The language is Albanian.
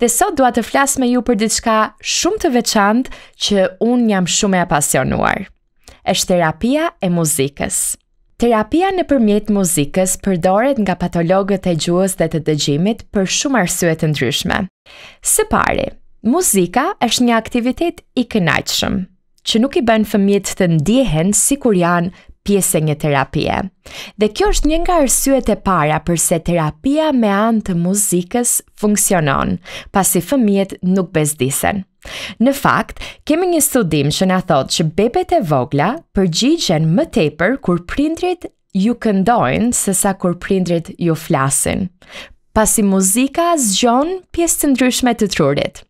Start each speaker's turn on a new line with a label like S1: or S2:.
S1: Dhe sot dua të flas me ju për diçka shumë të veçantë që unë jam shumë e apasionuar. Është terapia e muzikës. Terapia nëpërmjet muzikës përdoret nga patologët e gjuhës dhe të dëgjimit për shumë arsye të ndryshme. Së pari, muzika është një aktivitet i kënaqshëm, që nuk i bën fëmijët të ndjehen sikur janë pjesë e një terapie. Dhe kjo është një nga arsyet e para përse terapia me anë të muzikës funksionon, pasi fëmijët nuk bezdisen. Në fakt, kemi një studim që na thotë që bebet e vogla përgjigjen më tepër kur prindrit ju këndojnë sesa kur prindrit ju flasin, pasi muzika zgjon pjesë të ndryshme të trurit.